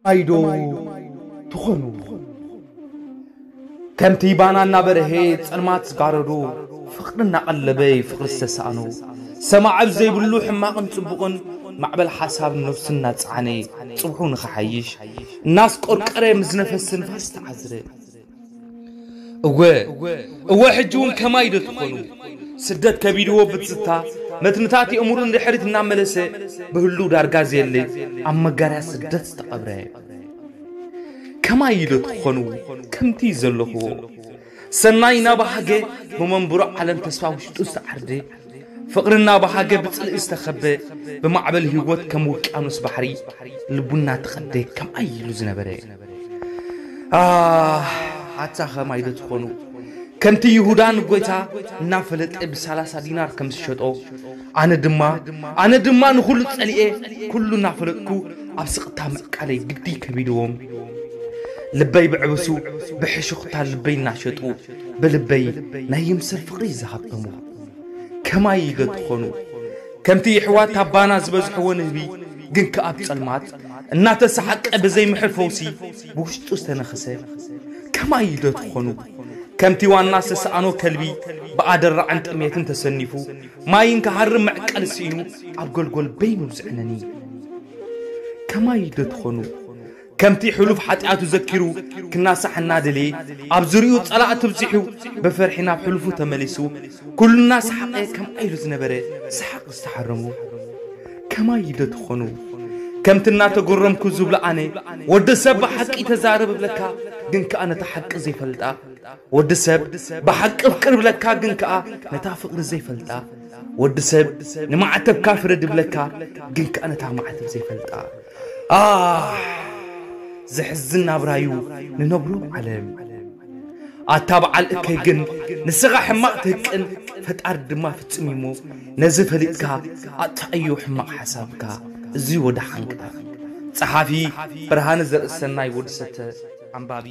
ከማይ ዶ ትኾኑ? ከምቲ ባና እናበርሀ ጸልማት ዝጋረዶ፣ ፍቕሪ እናቐለበይ ፍቕሪ ዝተሳእኖ፣ ሰማዕብ ዘይብሉ ሕማቕን ጽቡቕን፣ ማዕበል ሓሳብ ነፍሱ እናጸዓነ፣ ጽብሑ ንኽሓይሽ እናስቆርቀረ፣ ምስ ነፈስ ንፋስ ተዓዝረ። እወ፣ እወ፣ ሕጂ እውን ከማይ ዶ ትኾኑ? ስደት ከቢድዎ ብትዝታ፣ መትንታት የእምሩ ንድሕሪት እናመለሰ፣ ብህሉ ዳርጋ ዘየለ፣ ኣብ መጋርያ ስደት ዝተቐብረ። ከማይ ዶ ትኾኑ ከምቲ ዘለኽዎ? ሰናይ እናበሃገ ብመንብሮ ዓለም ተስፋ ውሽጡ ዝተዓርደ፣ ፍቕሪ እናበሃገ ብጽልኢ ዝተኸበ፣ ብማዕበል ህይወት ከም ውቅያኖስ ባሕሪ ልቡ እናተቐደ ከምኣይ ኢሉ ዝነበረ። ኣህ፣ ኣታ ከማይ ዶ ትኾኑ? ከምቲ ይሁዳ ንጎይታ እናፈለጠ ብሰላሳ ዲናር ከም ዝሸጦ፣ ኣነ ድማ፣ ኣነ ድማ ንኹሉ ጸሊኤ፣ ኩሉ እናፈለጥኩ ኣብ ስቕታ ምዕቃለይ ግዲ ከቢድዎም። ልበይ ብዕብሱ ብሕሹኽታ ልበይ እናሸጡ፣ ብልበይ ናይ ይምሰል ፍቕሪ ዝሃብቶሙ። ከማይ ዶ ትኾኑ? ከምቲ የሕዋት ኣባና ዝበዝሕዎ ንህቢ፣ ግን ከኣ ኣብ ጸልማት እናተሰሓቀ ብዘይምሕር ፈውሲ ብውሽጡ ዝተነኽሰ። ከማይ ዶ ትኾኑ? ከምቲ ዋና ዝተሰኣኖ ከልቢ ብኣደራዕን ጥሜትን ተሰኒፉ፣ ማይን ክሃርም መዕቀሊ ስኢኑ ኣብ ጎልጎል በይኑ ዝዕነኒ። ከማይ ዶ ትኾኑ? ከምቲ ሕሉፍ ሓጢኣቱ ዘኪሩ ክናሳሕ እናደለየ፣ ኣብ ዙርያኡ ጸላእቲ ብዚሑ፣ ብፍርሒ ናብ ሕሉፉ ተመሊሱ፣ ኩሉ እናሰሓቐ ከምኣ ኢሉ ዝነበረ ሰሓቕ ዝተሓረሞ። ከማይ ዶ ትኾኑ? ከምቲ እናተገረምኩ ዝብሎ ኣነ፣ ወዲ ሰብ ብሓቂ ተዛረብ እብለካ፣ ግን ከኣ ነታ ሓቂ ዘይፈልጣ፣ ወዲ ሰብ ብሓቂ ኣፍቅር እብለካ፣ ግን ከኣ ነታ ፍቕሪ ዘይፈልጣ፣ ወዲ ሰብ ንማዕተብካ ፍረድ እብለካ፣ ግን ከኣ ነታ ማዕተብ ዘይፈልጣ። ኣህ፣ ዘሕዝን ናብራዩ ንነብሮ ዓለም። ኣታ በዓል እከይ ግን፣ ንስኻ ሕማቕ ትህቅን፣ ፈጣሪ ድማ ፍጹም እዩ እሞ፣ ነዚ ፈሊጥካ ኣጥፍኣዮ ሕማቕ ሓሳብካ። እዚ ወደ ሓንካ። ጸሓፊ ብርሃነ ዘርእሰናይ ወዲ ሰተ፣ ኣንባቢ